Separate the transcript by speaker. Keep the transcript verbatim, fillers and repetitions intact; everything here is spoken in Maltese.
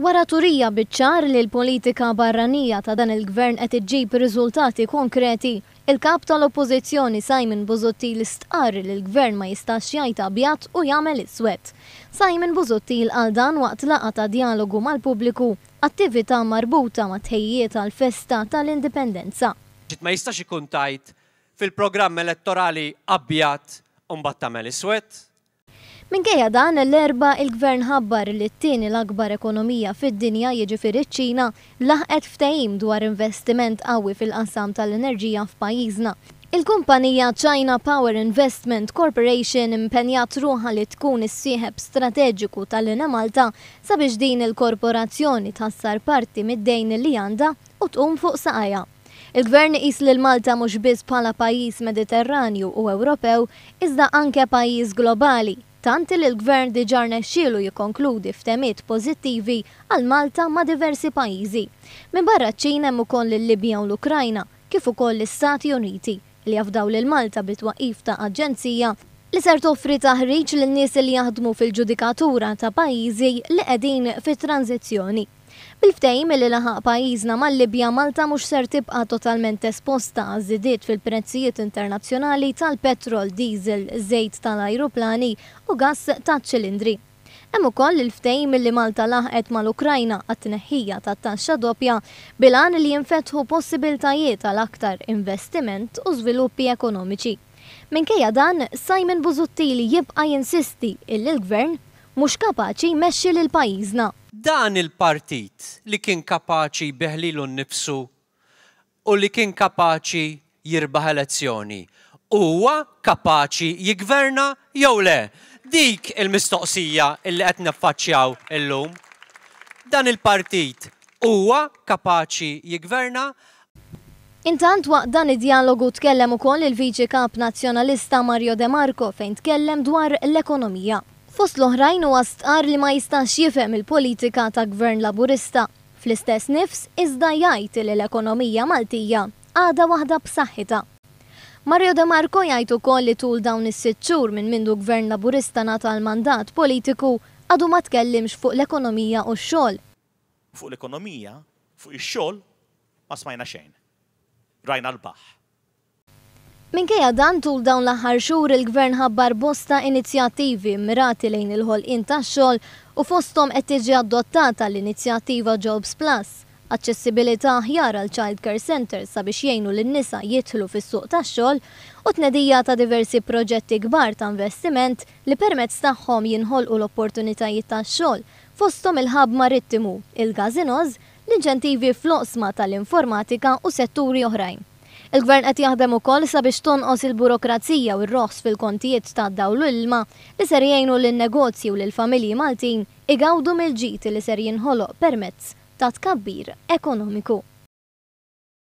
Speaker 1: Wara turija biċ-ċar li l-politika barranija ta' dan il-gvern qed iġġib riżultati konkreti, il-kap tal-Oppożizzjoni Simon Busuttil stqarr li l-gvern ma jistax jgħid abjad u jagħmel iswed. Simon Busuttil qal dan waqt laqgħa ta' djalogu mal-pubbliku, attività marbuta ma' tħejjiet għall-festa tal-Indipendenza.
Speaker 2: Ma jistax ikun tgħid fil-programm elettorali abjad u mbagħad tagħmel iswed.
Speaker 1: Minkejja dan, l-Erbgħa il-gvern ħabbar li t-tieni l-akbar ekonomija fid-dinja, jiġifieri ċ-Ċina, laħqet ftehim dwar investiment qawwi fil-qasam tal-enerġija f'pajjiżna. Il-kumpanija China Power Investment Corporation impenjat ruħha li tkun is-sieħeb strateġiku tal-Enemalta sabiex din il-korporazzjoni tħassar parti mid-dejn li għandha u tqum fuq saqajha. Il-gvern iqis lil Malta mhux biss bħala pajjiż Mediterranju u Ewropew, iżda anke pajjiż globali, tant li l-gvern diġà rnexxielu jikkonkludi ftehimiet pożittivi għal Malta ma' diversi pajjiżi. Minbarra ċ-Ċina hemm ukoll il-Libja u l-Ukrajna, kif ukoll l-Istati Uniti, li jafdaw lil Malta bit-twaqqif ta' aġenzija li ser toffri taħriġ lil nies li jaħdmu fil-ġudikatura ta' pajjiżi li qegħdin fi tranzizzjoni. Bil-ftehim li laħaq pajjiżna mal-Libja, Malta mhux ser tibqa' totalment esposta għaż-żidiet fil-prezzijiet internazzjonali tal-petrol, diesel, żejt tal-ajruplani u gass taċ-ċilindri. Hemm ukoll il-ftehim li Malta laħqet mal-Ukrajna għat-tneħħija tat-taxxa doppja bil-għan li jinfetħu possibiltajiet għal aktar investiment u żviluppi ekonomiċi. Minkejja dan, Simon Busuttil jibqa' jinsisti illi l-gvern mhux kapaċi jmexxi lil pajjiżna.
Speaker 2: Dan il-partit li kien kapaċi jbigħ lilu nnifsu u li kien kapaċi jirbaħ elezzjoni, huwa kapaċi jigverna jew le? Dik il-mistoqsija illi qed naffaċċjaw illum. Dan il-partit huwa kapaċi jigverna?
Speaker 1: Intant waqt dan id-dialogu tkellem ukoll il-Viċi Kap Nazzjonalista Mario De Marco fejn tkellem dwar l-ekonomija. Fost l-oħrajn huwa stqarr li ma jistax jifhem il-politika ta' Gvern Laburista. Fl-istess nifs iżda jgħid li l-ekonomija Maltija għadha waħda b'saħħitha. Mario De Marco jgħid ukoll li tul dawn is-sitt xhur minn mindu Gvern Laburista ngħata l-mandat politiku għadu ma tkellimx fuq l-ekonomija u x-xogħol.
Speaker 3: Fuq l-ekonomija, fuq ix-xogħol ma smajna xejn. Rajna l-baħħ.
Speaker 1: Minkejja dan, tul dawn l-aħħar xhur il-Gvern ħabbar bosta inizjattivi mirati lejn il-ħolqien tax-xogħol u fosthom qed tiġi adottata l-inizjattiva Jobs Plus, aċċessibilità aħjar għal child care centers sabiex jgħinu lin-nisa jidħlu fis-suq tax-xogħol u tnedija ta' diversi proġetti kbar ta' investiment li permezz tagħhom jinħolqu l-opportunitajiet tax-xogħol, fosthom il-hub marittimu, il-gazinoż, l-inċentivi fl-oqsma tal-informatika u setturi oħrajn. Il-Gvern qed jaħdem ukoll sabiex tonqos il-burokrazija u r-roħs fil-kontijiet ta' dawl u ilma li ser jgħinu lin-negozji u lill-familji Maltin igawdu mill-ġid li ser jinħoloq permezz ta' tkabbir ekonomiku.